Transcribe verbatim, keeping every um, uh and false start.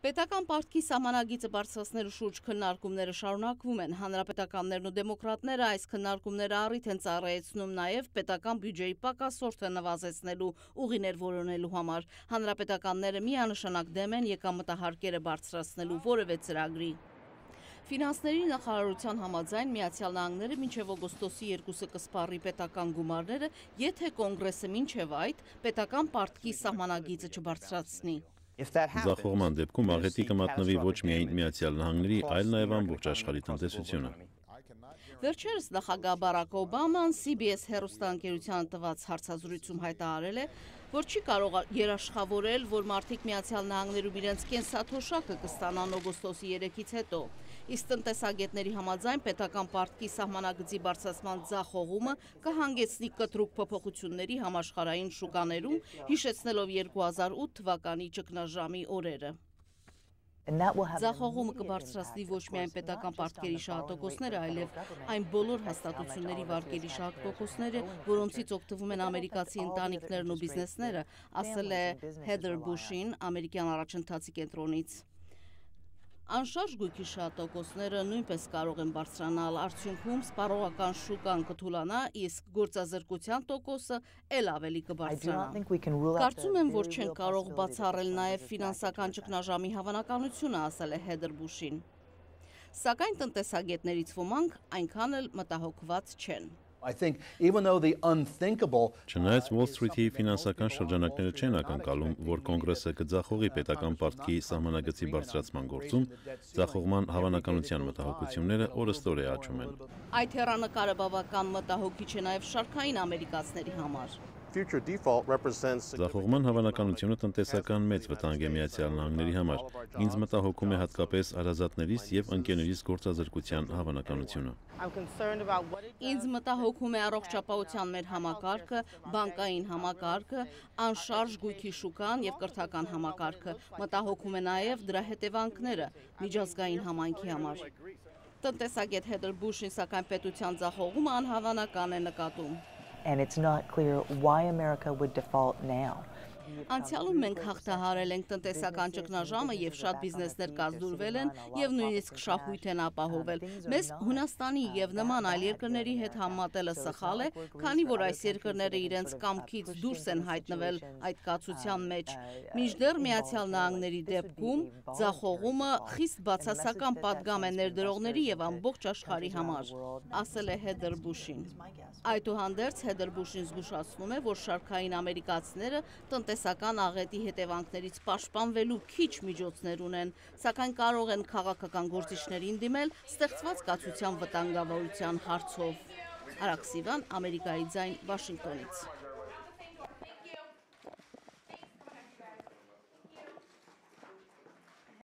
Պետական պարտքի սահմանագիծը բարձրացնելու շուրջ քննարկումները շարունակվում են։ Հանրապետականներն ու դեմոկրատները այս քննարկումները առիթ են ծառայեցնում նաև պետական բյուջեի պակասորդը նվազեցնելու ուղիներ որոնելու համար։ Հանրապետականները միանշանակ դեմ են եկամտահարկերը բարձրացնելու որևէ ծրագրի։ Ֆինանսների նախարարության համաձայն Միացյալ Նահանգները մինչև օգոստոսի երկուսը կսպառի պետական գումարները, եթե կոնգրեսը մինչև այդ պետական պարտքի սահմանագիծը չբարձրացնի։ Ձախողման դեպքում աղետի կմատնվի ոչ միայն Միացյալ Նահանգների, այլ նաև ամբողջ աշխարհի տնտեսությունը։ Վերջերս նախագահ Բարաք Օբաման սի բի էս հեռուստաընկերությանը տված հարցազրույցում հայտարարել է, որ չի կարող երաշխավորել, որ մարդիկ Միացյալ Նահանգներում իրենց կենսաթոշակը կստանան օգոստոսի երեքից հետո։ Իսկ տնտեսագետների համաձայն պետական պարտքի սահմանագծի բարձրացման ձախողումը կհանգեցնի կտրուկ փոփոխությունների համաշխարհային շուկաներում, հիշեցնելով երկու հազար ութ թվականի ճգնաժամի օրերը։ Ձախողումը կբարձրացնի ոչ միայն պետական պարտքերի շահատոկոսները, այլև այն բոլոր հաստատությունների վարկերի շահատոկոսները, որոնցից օգտվում են ամերիկացի ընտանիքներն ու բիզնեսները, ասել է Հեդեր Բուշին ամերիկյան առաջընթացի կենտրոնից։ Անշարժ գույքի շահատոկոսները նույնպես կարող են բարձրանալ, արդյունքում սպառողական շուկան կթուլանա, իսկ գործազրկության տոկոսը էլ ավելի կբարձրանա։ Կարծում եմ, որ չեն կարող բացառել նաև ֆինանսական ճգնաժամի հավանականությունը, ասել է Հեդեր Բուշին։ Սակայն տնտեսագետներից ոմանք այնքան էլ մտահոգված չեն։ Չնայած Wall Street-ի ֆինանսական շրջանակները չեն ակնկալում, որ կոնգրեսը կձախողի պետական պարտքի սահմանագծի բարձրացման գործում, ձախողման հավանականության մտահոգությունները օրըստօրե աճում են։ Այդ հեռանկարը բավական մտահոգիչ է նաև շարքային ամերիկացիների համար։ Ձախողման հավանականությունը տնտեսական մեծ վտանգ է Միացյալ Նահանգների համար։ Ինձ մտահոգում է հատկապես հարազատներիս եւ ընկերներիս գործազրկության հավանականությունը։ Ինձ մտահոգում է առողջապահության մեր համակարգը, բանկային համակարգը, անշարժ գույքի շուկան եւ կրթական համակարգը։ Մտահոգում է նաեւ դրա հետևանքները միջազգային համայնքի համար։ Տնտեսագետ Հեդեր Բուշին սակայն պետության ձախողումը անհավանական է նկատում։ And it's not clear why America would default now. Անցյալում մենք հաղթահարել ենք տնտեսական ճգնաժամը եւ շատ բիզնեսներ կազդուրվել են եւ նույնիսկ շահույթ են ապահովել։ Մեզ Հունաստանի եւ նման այլ երկրների հետ համատելը սխալ է, քանի որ այս երկրները իրենց կամքից դուրս են հայտնվել այդ կացության մեջ։ Մինչդեռ Միացյալ Նահանգների դեպքում ձախողումը խիստ բացասական պատգամ է ներդրողների եւ ամբողջ աշխարհի համար, ասել է Հեդեր Բուշին։ Այդուհանդերձ Հեդեր Բուշին զգուշացնում է, որ շարքային ամերիկացիները տնտեսական աղետի հետևանքներից պաշտպանվելու քիչ միջոցներ ունեն, սակայն կարող են քաղաքական գործիչներին դիմել ստեղծված կացության վտանգավորության հարցով։ Արաքսիվան, Ամերիկայի ձայն, Վաշինգտոնից։